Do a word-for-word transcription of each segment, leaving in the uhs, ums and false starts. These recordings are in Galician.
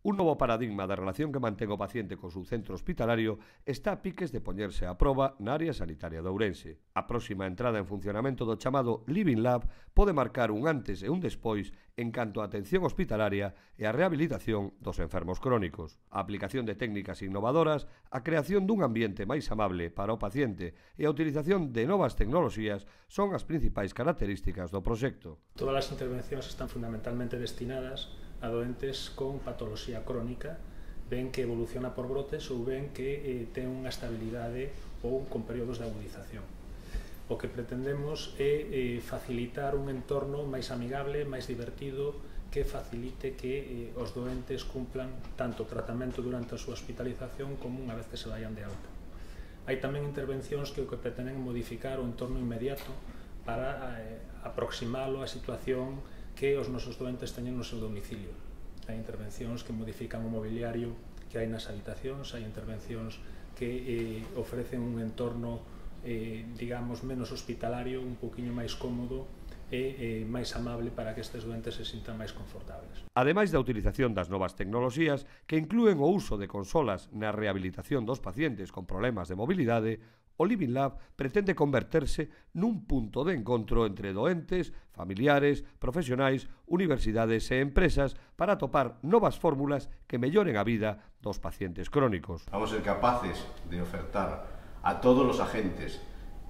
Un novo paradigma da relación que mantén o paciente co seu centro hospitalario está a piques de poñerse á proba na área sanitaria de Ourense. A próxima entrada en funcionamento do chamado Living Lab pode marcar un antes e un despois en canto á atención hospitalaria e a rehabilitación dos enfermos crónicos. A aplicación de técnicas innovadoras, a creación dun ambiente máis amable para o paciente e a utilización de novas tecnoloxías son as principais características do proxecto. Todas as intervencións están fundamentalmente destinadas a doentes con patoloxía crónica, ben que evoluciona por brotes ou ben que eh, ten unha estabilidade ou con períodos de agudización. O que pretendemos é eh, facilitar un entorno máis amigable, máis divertido, que facilite que eh, os doentes cumplan tanto o tratamento durante a súa hospitalización como unha vez que se vayan de alta. Hai tamén intervencións que o que pretenden é modificar o entorno inmediato para eh, aproximalo á situación que os nosos doentes teñen no seu domicilio. Hai intervencións que modifican o mobiliario que hai nas habitacións, hai intervencións que eh, ofrecen un entorno, eh, digamos, menos hospitalario, un poquinho máis cómodo e eh, máis amable para que estes doentes se sintan máis confortables. Ademais da utilización das novas tecnoloxías que inclúen o uso de consolas na rehabilitación dos pacientes con problemas de mobilidade, o Living Lab pretende converterse nun punto de encontro entre doentes, familiares, profesionais, universidades e empresas para atopar novas fórmulas que melloren a vida dos pacientes crónicos. Vamos a ser capaces de ofertar a todos los agentes,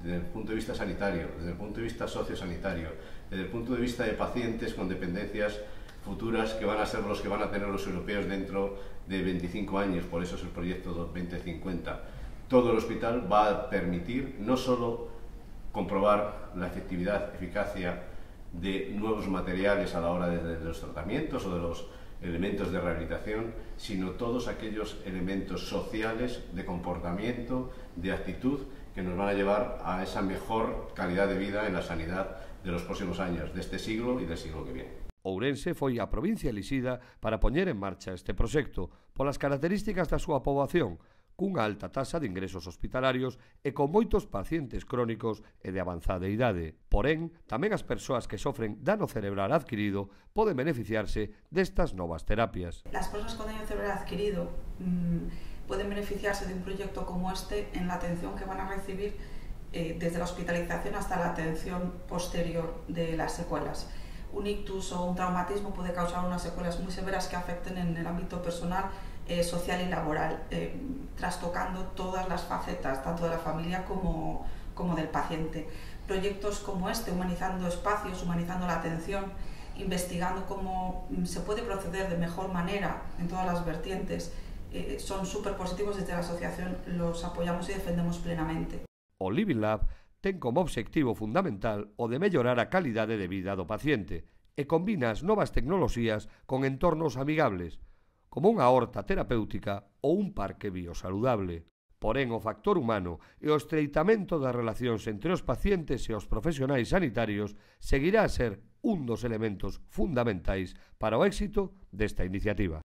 desde el punto de vista sanitario, desde el punto de vista sociosanitario, desde el punto de vista de pacientes con dependencias futuras que van a ser los que van a tener los europeos dentro de veinticinco años, por eso es el proyecto veinte cincuenta. Todo el hospital va a permitir no solo comprobar la efectividad, eficacia de nuevos materiales a la hora de, de los tratamientos o de los elementos de rehabilitación, sino todos aquellos elementos sociales de comportamiento, de actitud, que nos van a llevar a esa mejor calidad de vida en la sanidad de los próximos años, de este siglo y del siglo que viene. Ourense foi a provincia elixida para poñer en marcha este proxecto polas características da súa poboación, cunha alta taxa de ingresos hospitalarios e con moitos pacientes crónicos e de avanzada idade. Porén, tamén as persoas que sofren dano cerebral adquirido poden beneficiarse destas novas terapias. Las personas con daño cerebral adquirido mmm, pueden beneficiarse de un proyecto como este en la atención que van a recibir eh, desde la hospitalización hasta la atención posterior de las secuelas. Un ictus o un traumatismo puede causar unas secuelas muy severas que afecten en el ámbito personal, eh, social y laboral, eh, trastocando todas las facetas, tanto de la familia como, como del paciente. Proyectos como este, humanizando espacios, humanizando la atención, investigando cómo se puede proceder de mejor manera en todas las vertientes, eh, son súper positivos. Desde la asociación los apoyamos y defendemos plenamente. O Living Lab ten como obxectivo fundamental o de mellorar a calidade de vida do paciente e combina as novas tecnoloxías con entornos amigables, como unha horta terapéutica ou un parque biosaludable. Porén, o factor humano e o estreitamento das relacións entre os pacientes e os profesionais sanitarios seguirá a ser un dos elementos fundamentais para o éxito desta iniciativa.